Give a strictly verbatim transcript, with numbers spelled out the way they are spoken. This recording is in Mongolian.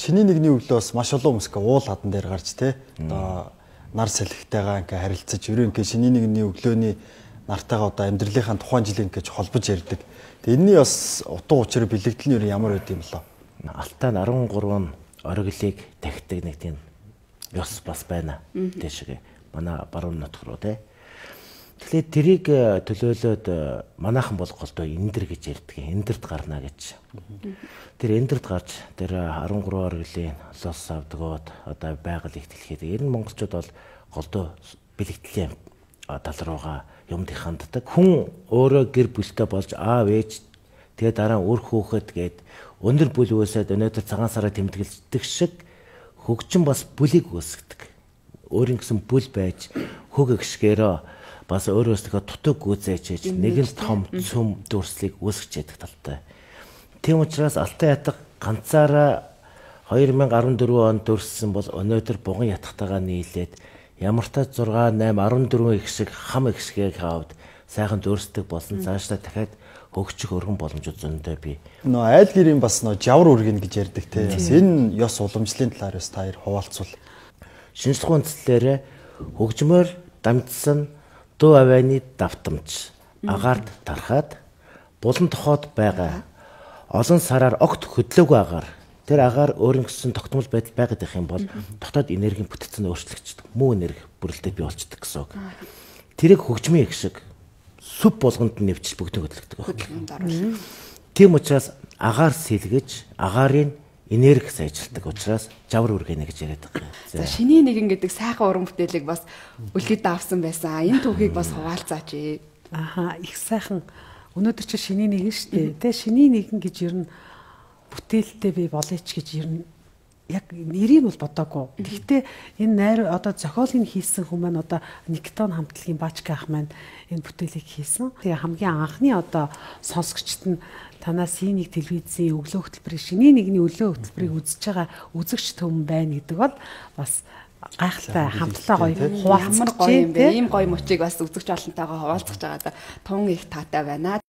шиний нэгний өглөө бас маш олон хүмүүс уул хадан дээр гарч те одоо нар салхитайгаа ингээ харилцаж ерөө ингээ шиний нэгний өглөөний нартайгаа одоо амьдралынхаа тухайн жилийн гэж холбож ярьдаг. Тэгээ энэний бас утга учир бэлэгдэл нь ямар байд юм болоо. Алтай нь арван гурван ориглыг тахидаг нэг тийм ёс бас байна. Тэшгээ манай баруун нутг руу те. Тэгэхээр тэрийг төлөөлөөд манайхан бол голдоо эндэр гэж ярьдаг. Эндэрт гарна гэж. Тэр эндэрт гарч тэр арван гурван ориглын лос авдагод одоо байгаль ихтэлхэд ер нь монголчууд бол голдоо бэлэгдлийн тал руугаа юмд ханддаг. Хүн өөрөө гэр бүлтэй болж аав ээж тэгээ дараа өөр хөөхөд гээд өндөр бүл үүсээд өнөөдөр цагаан сараа тэмдэглэдэг шиг хөгжин бас бүлийг үүсгдэг. Өөрийн гэсэн бүл байж хөг гიშгээрөө бас өөрөөсөө тутаг гүйцээж нэгэн том цөм дүрслийг үүсгэж яадаг талтай. Тийм учраас Алтай ятга ганцаараа две тысячи дөрвөн онд дүрссэн бол өнөөдөр буган ятгатайгаа нийлээд ямар ч зураг восемь дөрвөн их шиг хам их шигийг хавд сайхан дүрсдэг болсон цаашдаа дахиад хөгжих өргөн боломжууд зөндөө бий. Нөө айл гэрийн бас нөө жавар үргэн гэж ярьдаг те. Бас энэ ёс уламжлалын талаар бас та хоёр хуваалцвал. Шинжлэх үндслээр хөгжмөр дамжсан дуу авианы давтамж агаард тархаад булан тохоод байгаа олон сараар огт хөдлөөгүй агаар тэр агаар өөрийн гэсэн тогтмол байдал байгаад байх юм бол дотоод энергийн бүтцэн өөрчлөгддөг. Муу энерги бүрэлдэхүүн бий болчдөг гэсэн үг. Тэрийг хөгжмийн их шиг сүв болгонд нэвчил бүгдийг хөдөлгдөг байна. Тийм учраас агаар сэлгэж агаарын энерги сайжирдаг учраас жавар үргэнэ гэж яриад байгаа. За шиний нэгэн гэдэг сайхан уран бүтээлийг бас үлгэд давсан байсан. Энэ түүхийг бас хуваалцаач. Аха их сайхан. Өнөөдөр чи шиний нэгэн шүү дээ. Тэ шиний нэгэн гэж ер нь бүтээлтэй би болооч гэж ер нь яг нэрийг бол бодоогүй. Гэхдээ энэ найр одоо зохиолыг хийсэн хүмүүс маань одоо Никтон хамтлагийн Баачка ах маань энэ бүтээлийг хийсэн. Тэгээ хамгийн анхны одоо сонсогчд нь танаас синийг телевизийн өглөө хөтөлбөрийн шиний нэгний өглөө хөтөлбөрийг үзэж байгаа үзэгч төмөн байна гэдэг бол бас гайхалтай хамтлаа гоё хуваалцмар гоё юм бэ. Ийм гоё мөчийг бас үзэгч олонтойгоо хуваалцах жагаа тун их таатай байна.